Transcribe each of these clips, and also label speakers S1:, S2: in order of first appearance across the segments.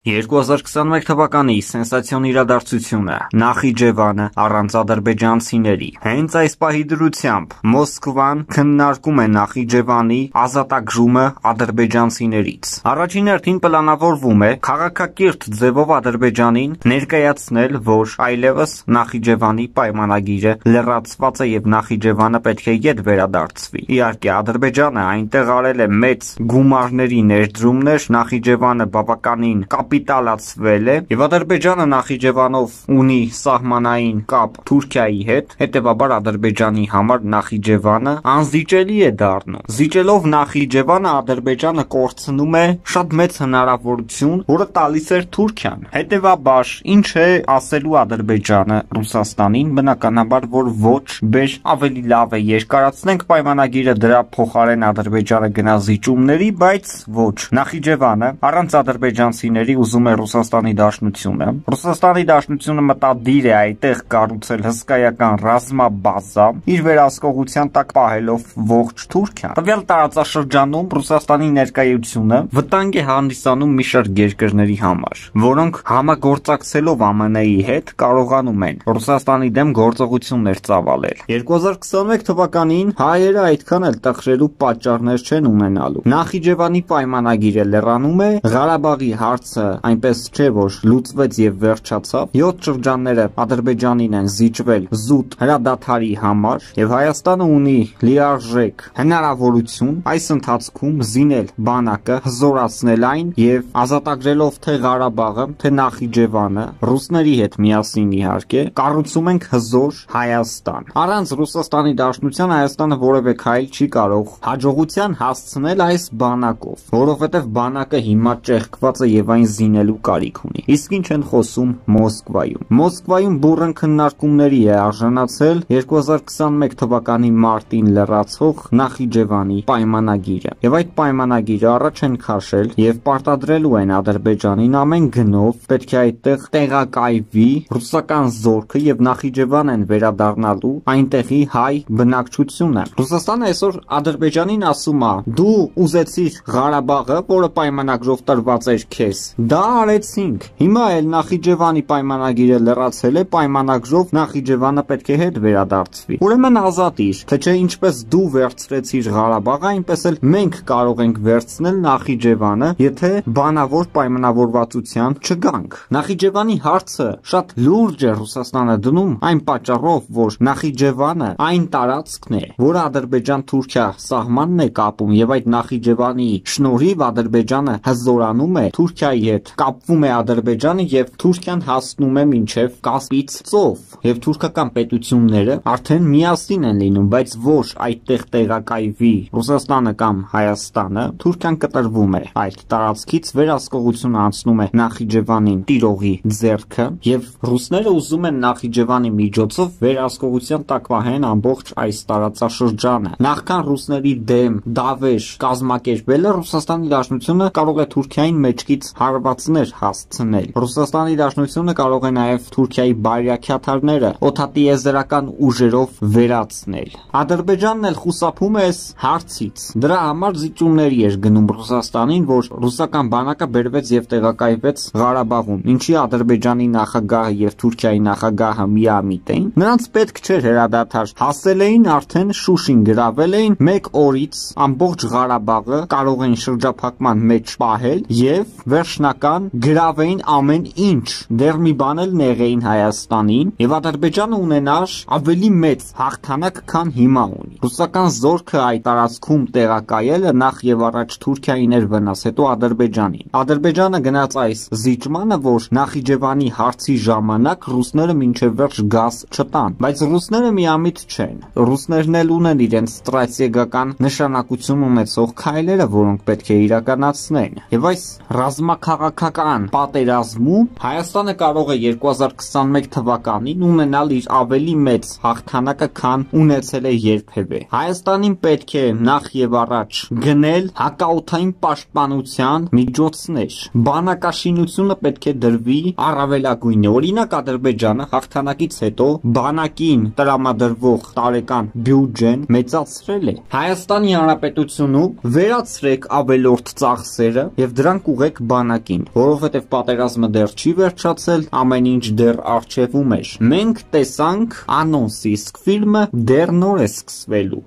S1: 2021 թվականի սենսացիոն իրադարձությունը Նախիջևանը առանց ադրբեջանցիների։ Հենց այս պահի դրությամբ Մոսկվան քննարկում է Նախիջևանի ազատագրումը ադրբեջանցիներից։ Առաջին հերթին պլանավորվում է քաղաքակիրթ ձևով Ադրբեջանին ներկայացնել, որ այլևս Նախիջևանի պայմանագիրը լրացված է եւ Նախիջևանը պետք է ետ վերադարձվի։ Իհարկե, Ադրբեջանը այնտեղ արել է մեծ գումարների ներդրումներ, Նախիջևանը բավականին կապիտալացվել է եւ Ադրբեջանը Նախիջևանով ունի սահմանային կապ Թուրքիայի հետ, հետեւաբար Ադրբեջանի համար Նախիջևանը անզիջելի է դառնում։ Զիջելով Նախիջևանը Ադրբեջանը կորցնում է շատ մեծ հնարավորություն, որը տալիս էր Թուրքիան։ Հետեւաբար ինչ է ասելու Ադրբեջանը Ռուսաստանին, բնականաբար որ ոչ, բեր ավելի լավ է երկարացնենք պայմանագիրը, դրա փոխարեն Ադրբեջանը գնա զիջումների, բայց ոչ։ Նախիջևանը առանց ադրբեջանցիների ուզում է Ռուսաստանի Դաշնությունը։ Ռուսաստանի Դաշնությունը մտադիր է այդտեղ կառուցել հսկայական ռազմաբազա, իր վերահսկողության տակ պահելով ողջ Թուրքիան։ Տվյալ տարածաշրջանում Ռուսաստանի ներկայությունը վտանգ է հանդիսանում մի շարք երկրների համար, որոնք համագործակցելով ԱՄՆ-ի հետ կարողանում են Ռուսաստանի դեմ գործողություններ ծավալել։ 2021 թվականին հայերը այդքան էլ տխրելու պատճառներ չեն ունենալու։ Նախիջևանի պայմանագիրը լրանում է, Ղարաբաղի հարցը այնպես չէ, որ լուծվեց եւ վերջացավ։ 7 շրջանները Ադրբեջանին են զիջվել զուտ հրադադարի համար եւ Հայաստանը ունի լիարժեք հնարավորություն այս ընթացքում զինել բանակը, հզորացնել այն եւ ազատագրելով թե Ղարաբաղը, թե Նախիջևանը, ռուսների հետ միասին իհարկե, կառուցում ենք հզոր Հայաստան։ Առանց Ռուսաստանի Դաշնության Հայաստանը որևէ քայլ չի կարող հաջողության հասցնել այս բանակով, որովհետեւ բանակը հիմա ճեղքված է եւ այն զինելու կարիք ունի։ Իսկ ինչ են խոսում Մոսկվայում։ Մոսկվայում բուրըն քննարկումների է արժանացել 2021 թվականի մարտին լրացող Նախիջևանի պայմանագիրը։ Եվ այդ պայմանագիրը առաջ են քաշել եւ պարտադրելու են Ադրբեջանին ամեն գնով պետք է այդտեղ տեղակայվի ռուսական զորքը եւ Նախիջևան են վերադառնալու այնտեղի հայ բնակչությունը։ Ռուսաստանը այսօր Ադրբեջանին ասում է. դու ուզեցիր Ղարաբաղը, որը պայմանագրով տրված էր քեզ, դա արեցինք։ Հիմա էլ Նախիջևանի պայմանագիրը լրացել է, պայմանագրով Նախիջևանը պետք է հետ վերադարձվի։ Ուրեմն ազատիր, թե չէ ինչպես դու վերցրեցիր Ղարաբաղը, այնպես էլ մենք կարող ենք վերցնել Նախիջևանը, եթե բանավոր պայմանավորվածության չգանք։ Նախիջևանի հարցը շատ լուրջ է Ռուսաստանը դնում այն պատճառով, որ Նախիջևանը այն տարածքն է, որը Ադրբեջան-Թուրքիա սահմանն է կապում եւ այդ Նախիջևանի շնորհիվ Ադրբեջանը հզորանում է Թուրքիայի հետ, կապվում է Ադրբեջանը եւ Թուրքիան հասնում է մինչեւ Կասպից ծով եւ թուրքական պետությունները արդեն միասին են լինում, բայց ոչ այդտեղ տեղակայվի Ռուսաստանը կամ Հայաստանը, Թուրքիան կտրվում է այդ տարածքից, վերահսկողությունը անցնում է Նախիջևանին տիրողի ձեռքը եւ ռուսները ուզում են Նախիջևանի միջոցով վերահսկողության տակ պահեն ամբողջ այս տարածաշրջանը։ Նախքան ռուսների դեմ դավեր կազմակերպելը Ռուսաստանի Դաշնությունը կարող է Թուրքիային մեջքից հարվածներ հասցնել։ Ռուսաստանի Դաշնությունը կարող է նաև Թուրքիայի բարյակյաթարները օդատիեզերական ուժերով վերացնել։ Ադրբեջանն էլ խուսափում է այս հարցից։ Դրա համար զիջումների էր գնում Ռուսաստանին, որ ռուսական բանակը բերվեց եւ տեղակայվեց Ղարաբաղում, ինչի Ադրբեջանի նախագահը եւ Թուրքիայի նախագահը միամիտ էին։ Նրանց պետք չէր հրադադար, հասել էին արդեն Շուշին, գրավել էին 1 օրից ամբողջ Ղարաբաղը կարող են շրջափակման մեջ պահել եւ վերջնական գրավեին ամեն ինչ, դեռ մի բան էլ նեղեին Հայաստանին եւ Ադրբեջանը ունենար ավելի մեծ հաղթանակ, քան հիմա ունի։ Ռուսական զորքը այդ տարածքում տեղակայելը նախ եւ առաջ Թուրքիային էր վնաս, հետո Ադրբեջանին։ Ադրբեջանը գնաց այս զիջմանը, որ Նախիջևանի հարցի ժամանակ ռուսները մինչեւ վերջ գազ չտան, բայց ռուսները միամիտ չեն։ Ռուսներն էլ ունեն իրենց ստրատեգիական նշանակություն ունեցող քայլերը, որոնք պետք է իրականացնեն։ Եվ այս ռազմաքաղաքական պատերազմում Հայաստանը կարող է 2021 թվականին ունենալ իր ավելի մեծ հաղթանակը, քան ունեցել է երբևէ։ Հայաստանին պետք է նախ եւ առաջ գնել հակաօդային պաշտպանության միջոցներ։ Բանակաշինությունը պետք է դրվի առավելագույնը։ Օրինակ Ադրբեջանը հաղթանակից հետո բանակին տրամադրվող տարեկան բյուջեն մեծացրել է։ Հայաստանի Հանրապետությունում վերացրեք ավելորդ ծախսերը եւ դրանք ուղեք բանակին։ կյանքին, որովհետև պատերազմը դեռ չի վերջացել, ամեն ինչ դեռ առջևում էր։ Մենք տեսանք անոնսի, իսկ ֆիլմը դեռ նոր է սկսվելու։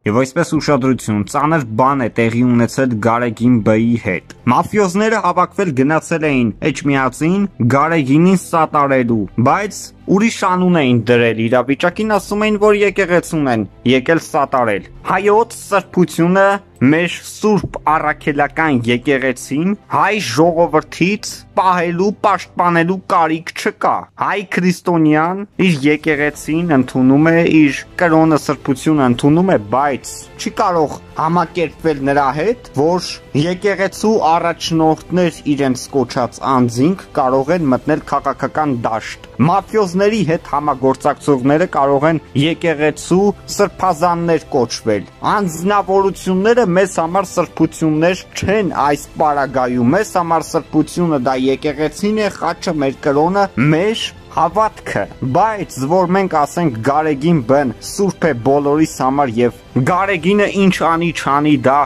S1: Եվ այսպես ուշադրություն, ծանր բան է տեղի ունեցել Գարեգին Բ-ի հետ։ Մաֆիոզները հավաքվել գնացել էին Էջմիածին Գարեգինին սատարելու, բայց ուրիշ անուն էին դրել իրավիճակին, ասում էին, որ եկեղեցուն են եկել սատարել։ Հայոց սրբությունը մեր սուրբ առաքելական եկեղեցին հայ ժողովրդից պահելու, պաշտպանելու կարիք չկա։ Հայ քրիստոնյան իր եկեղեցին ընդունում է, իր կրոնը սրբությունը ընդունում է, բայց չի կարող համակերպվել նրա հետ, որ եկեղեցու առաջնորդներ իրենց կոչած անձինք կարող են մտնել քաղաքական դաշտ։ Մաֆիոզների հետ համագործակցողները կարող են եկեղեցու սրբազաններ կոչվել։ Անձնավորությունները մեզ համար սրբություններ չեն այս պարագայում, մեզ համար սրբությունը դա եկեղեցին է, խաչը, մեր կրոնը, մեր հավատքը, բայց որ մենք ասենք Գարեգին Բ-ն սուրբ է բոլորիս համար եւ Գարեգինը ինչ անի չանի դա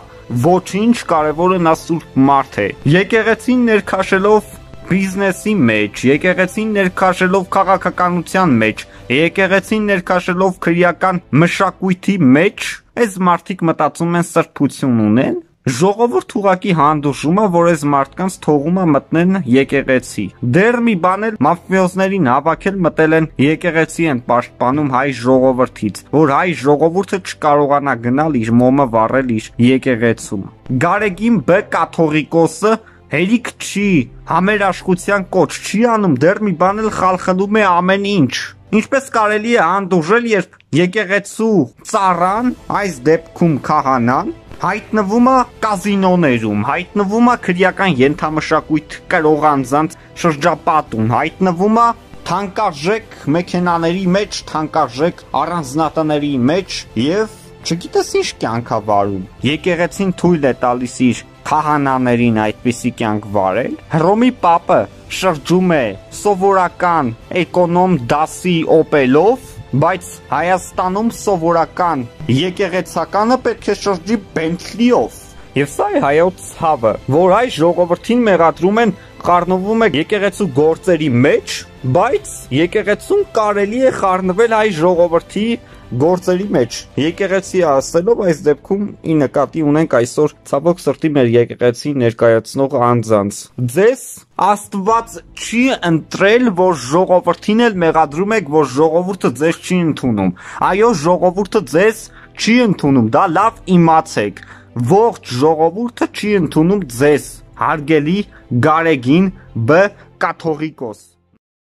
S1: ոչինչ, կարևորը նա սուրբ մարդ է։ Եկեղեցին ներքաշելով բիզնեսի մեջ, եկեղեցին ներքաշելով քաղաքականության մեջ, եկեղեցին ներքաշելով քրեական մշակույթի մեջ, այս մարդիկ մտածում են սրբություն ունեն։ Ժողովուրդ ուղակի հանդուրժում է, որ այս մարդկանց թողում է մտնեն եկեղեցի։ Դեռ մի բան էլ մաֆիոզներին հավաքել մտել են եկեղեցի են պաշտպանում հայ ժողովրդից, որ հայ ժողովուրդը չկարողանա գնալ իր մոմը վառել իր եկեղեցում։ Գարեգին Բ կաթողիկոսը հերիք չի, համերաշխության կոչ չի անում, դեռ մի բան էլ խալխլում է ամեն ինչ։ Ինչպես կարելի է հանդուրժել, երբ եկեղեցու ծառան, այս դեպքում քահանան, հայտնվում է կազինոներում, հայտնվում է քրեական ենթամշակույթ կրող անձանց շրջապատում, հայտնվում է թանկարժեք մեքենաների մեջ, թանկարժեք առանձնատների մեջ եւ չգիտես ինչ կյանք է վարում։ Եկեղեցին թույլ է տալիս իր քահանաներին այդպիսի կյանք վարել։ Հռոմի պապը շրջում է սովորական էկոնոմ դասի օպելով, բայց Հայաստանում սովորական եկեղեցականը պետք է շրջի Բենթլիով։ Եվ սա է հայոց ցավը, որ հայ ժողովրդին մեղադրում են, խառնվում է եկեղեցու գործերի մեջ, բայց եկեղեցուն կարելի է խառնվել հայ ժողովրդի գործերի մեջ։ Եկեղեցի ասելով այս դեպքում ի նկատի ունենք այսօր ցավոք սրտի մեր եկեղեցի ներկայացնող անձանց։ Ձեզ Աստված չի ընտրել, որ ժողովրդին էլ մեղադրում եք, որ ժողովուրդը ձեզ չի ընդունում։ Այո, ժողովուրդը ձեզ չի ընդունում, դա լավ իմացեք։ Ողջ ժողովուրդը չի ընդունում ձեզ, հարգելի Գարեգին Բ կաթողիկոս։